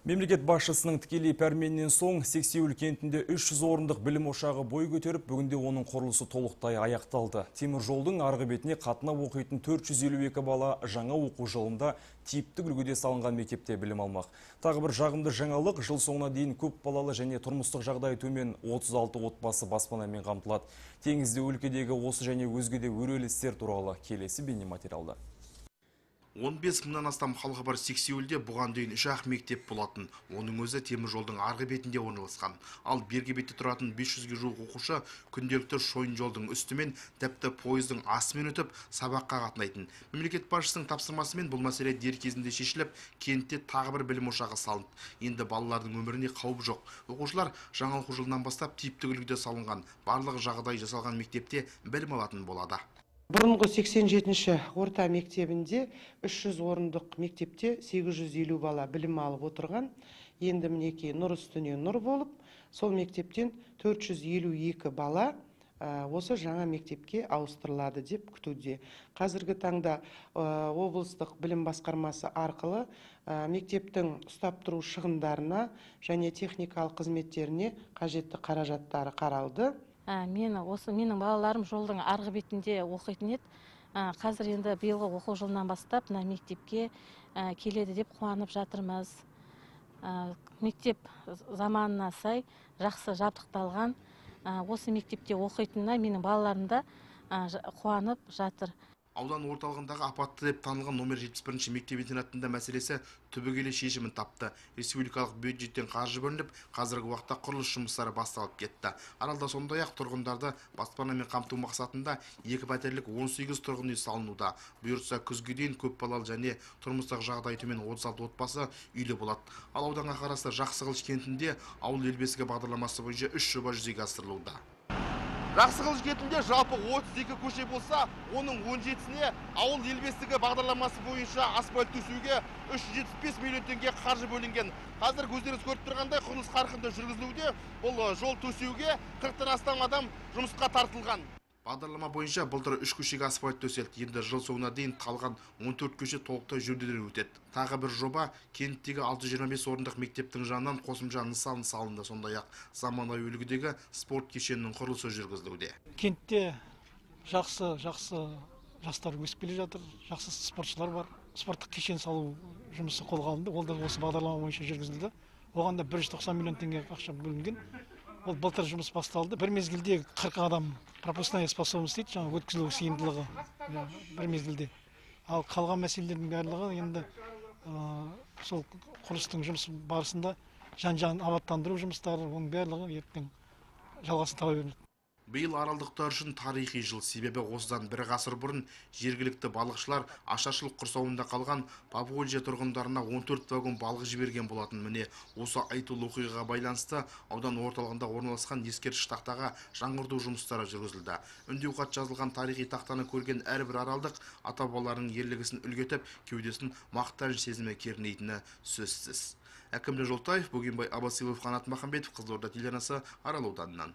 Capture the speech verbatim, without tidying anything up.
Мемлекет басшысының тікелей пәрменінен соң Сексеуіл кентінде үш жүз орындық білім ошағы бой көтеріп, бүгінде оның құрылысы толықтай аяқталды. Темір жолдың арғы бетіне қатынап оқитын төрт жүз елу екі бала жаңа оқу жылында типтік үлгіде салынған мектепте білім алмақ. Тағы бір жағымды жаңалық, жыл соңына дейін көп балалы және тұрмыстық жағдайы төмен отыз алты отбасы баспанамен қамтылады. Теңізде өлкедегі осы және өзге де өрелі істер туралы келесі бейнематериалда. он бес мыңнан астам халқы бар Сексеуілде бұған дейін үш ақ мектеп болатын. Оның өзі темір жолдың арғы бетінде орналасқан. Ал бергі бетте тұратын бес жүзге жуық оқушы күнделікті шойын жолдың үстімен, тіпті пойыздың астымен өтіп сабаққа қатынайтын. Мемлекет басшысының тапсырмасымен бұл мәселе дер кезінде шешіліп, кентте тағы бір білім ошағы салынды. Енді балалардың өміріне қауіп жоқ. Оқушылар жаңа оқу жылынан бастап типтік үлгіде салынған, барлық жағдай жасалған мектепте білім алатын болады. Бұрынғы сексен жетінші орта мектебінде үш жүз орындық мектепте сегіз жүз елу бала білім алып отырған. Енді мінекей нұр үстіне нұр болып, сол мектептен төрт жүз елу екі бала осы жаңа мектепке ауыстырылады деп күтуде. Қазіргі таңда облыстық білім басқармасы арқылы мектептің ұстап тұру шығындарына және техникалық қызметтеріне қажетті қаражаттары қаралды. Мен осы менің балаларым жолдың арғы бетінде оқитын еді. Қазір енді биылғы оқу жылынан бастап мына мектепке келеді деп қуанып жатырмыз. Мектеп заманына сай жақсы жабдықталған. Осы мектепте оқитынына менің балаларым да қуанып жатыр. Аудан орталығындағы апатты деп танылған номер жетпіс бірінші мектеп-интернатында мәселесі түбегейлі шешімін тапты. Республикалық бюджеттен қаржы бөлініп, қазіргі уақытта құрылыс жұмыстары басталып кетті. Аралда сондай-ақ тұрғындарды баспанамен қамту мақсатында екі пәтерлік он сегіз тұрғын үй салынуда. Бұйыртса күзге дейін көп балалы және тұрмыстық жағдайы төмен отыз алты отбасы үйлі болады. Ал ауданға қарасты Жақсықылыш кентінде ауыл ел бесігі бағдарламасы бойынша үш жоба жүзеге асырылуда. Жақсықылыш кентінде жалпы отыз екі көше болса, оның он жетісіне ауыл ел бесігі бағдарламасы бойынша асфальт төсеуге үш жүз жетпіс бес миллион теңге қаржы бөлінген. Қазір көздеріңіз көріп тұрғандай құрылыс қарқынды жүргізілуде. Бұл жол төсеуге қырықтан астам адам жұмысқа тартылған. Бағдарлама бойынша былтыр үш көшеге асфальт төселді. Енді жыл соңына дейін қалған он төрт көше толықтай жөнделіп өтеді. Тағы бір жоба кенттегі алты жүз жиырма бес орындық мектептің жанынан қосымша нысан салынды. Сондай-ақ заманауи үлгідегі спорт кешенінің құрылысы жүргізілуде. Кентте жақсы жақсы жастар өсіп келе жатыр, жақсы спортшылар бар. Спорттық кешен салу жұмысы қолға алынды. Ол да осы бағдарлама бойынша жүргізілді. Оған да бір жүз тоқсан миллион теңге ақша бөлінген. Ол былтыр жұмыс басталды. Бір мезгілде қырық адам пропускная способность дейді, жаңа өткізілу сыйымдылығы бір мезгілде. Ал қалған мәселелердің барлығы енді сол құрылыстың жұмысы барысында жан-жағын абаттандыру жұмыстары, оның барлығы ертең жалғасын таба береді. Биыл аралдықтар үшін тарихи жыл, себебі осыдан бір ғасыр бұрын жергілікті балықшылар ашаршылық құрсауында қалған Поволжье тұрғындарына он төрт вагон балық жіберген болатын. Міне осы айтулы оқиғаға байланысты аудан орталығында орналасқан ескерткіш тақтаға жаңғырту жұмыстары жүргізілді. Үндеу хат жазылған тарихи тақтаны көрген әрбір аралдық ата-бабаларының ерлігісін үлгі етіп, кеудесін мақтаныш сезімі кернейтіні сөзсіз. Әкімді Жолтаев, Бөгенбай Абасилов, Қанат Махамбетов, Қызылорда телеарнасы, Арал ауданынан.